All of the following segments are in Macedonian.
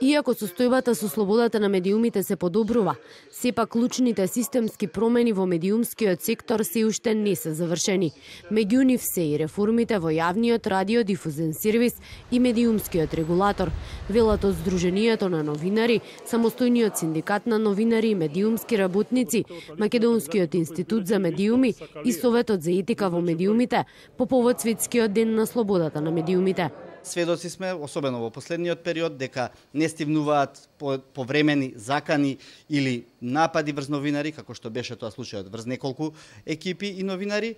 Иако состојбата со слободата на медиумите се подобрува, сепак клучните системски промени во медиумскиот сектор се уште не се завршени. Меѓу нив се и реформите во јавниот радиодифузен сервис и медиумскиот регулатор, велат од Сдруженијето на новинари, самостојниот синдикат на новинари и медиумски работници, Македонскиот институт за медиуми и Советот за етика во медиумите по повод Светскиот ден на слободата на медиумите. Сведоци сме, особено во последниот период, дека не стигнуваат повремени закани или напади врз новинари, како што беше тоа случајот врз неколку екипи и новинари.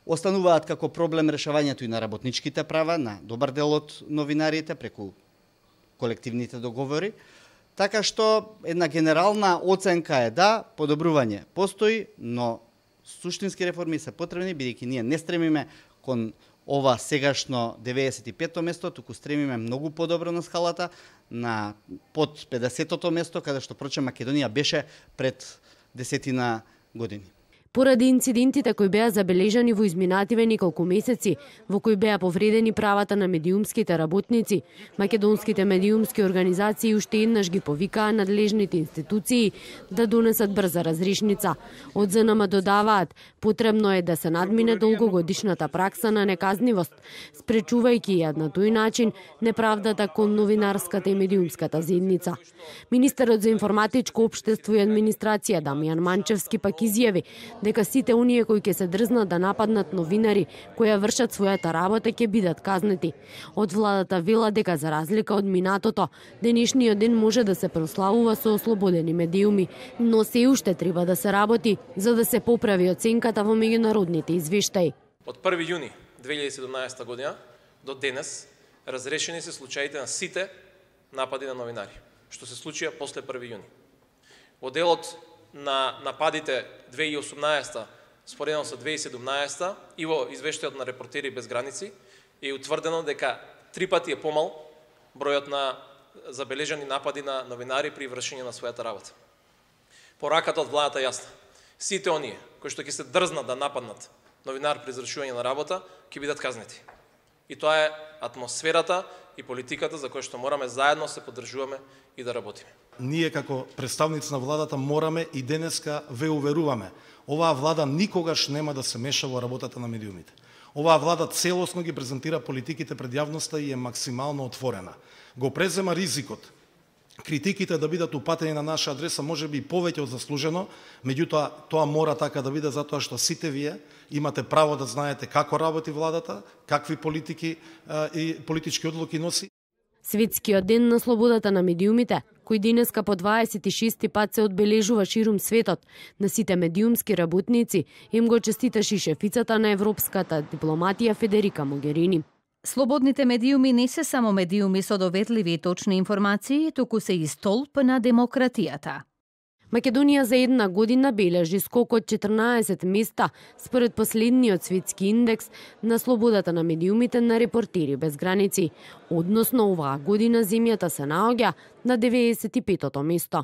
Остануваат како проблем решавањето и на работничките права на добар дел од новинарите преку колективните договори. Така што една генерална оценка е да, подобрување постои, но суштински реформи се потребни, бидејќи ние не стремиме кон ова сегашно 95-то место, туку стремиме многу подобро на скалата, на под 50-тото место, каде што прочем Македонија беше пред 10 години. Поради инцидентите кои беа забележани во изминативе неколку месеци, во кои беа повредени правата на медиумските работници, македонските медиумски организации уште еднаш ги повикаа надлежните институции да донесат брза разрешница. Од ЗНМ додаваат, потребно е да се надмине долгогодишната пракса на неказнивост, спречувајќи ја на тој начин неправдата кон новинарската и медиумската заедница. Министерот за информатичко општество и администрација Дамјан Манчевски пак изјави дека сите оние кои ќе се дрзнат да нападнат новинари кои ја вршат својата работа ќе бидат казнети. Од владата вела дека за разлика од минатото, денешниот ден може да се прославува со ослободени медиуми, но се уште треба да се работи за да се поправи оценката во меѓународните извештаи. Од 1 јуни 2017 година до денес разрешени се случаите на сите напади на новинари, што се случија после 1 јуни. Во делот на нападите 2018 споредено со 2017 и во извештајот на Репортери без граници е утврдено дека 3 пати е помал бројот на забележани напади на новинари при вршење на својата работа. Пораката од владата јасна. Сите оние кои што ќе се дрзнат да нападнат новинар при извршување на работа ќе бидат казнети. И тоа е атмосферата и политиката за која што мораме заедно се поддржуваме и да работиме. Ние како представници на владата мораме и денеска ве уверуваме. Оваа влада никогаш нема да се меша во работата на медиумите. Оваа влада целосно ги презентира политиките пред јавноста и е максимално отворена. Го презема ризикот критиките да бидат упатени на наша адреса може би повеќе од заслужено, меѓутоа тоа мора така да биде затоа што сите вие имате право да знаете како работи владата, какви политики и политички одлуки носи. Светскиот ден на слободата на медиумите, кој денеска по 26 пат се одбележува ширум светот, на сите медиумски работници им го честиташе шефицата на европската дипломатија Федерика Могерини. Слободните медиуми не се само медиуми со доветливи и точни информации, туку се и столб на демократијата. Македонија за една година бележи скок од 14 места според последниот светски индекс на слободата на медиумите на Репортери без граници. Односно оваа година земјата се наоѓа на 95-тото место.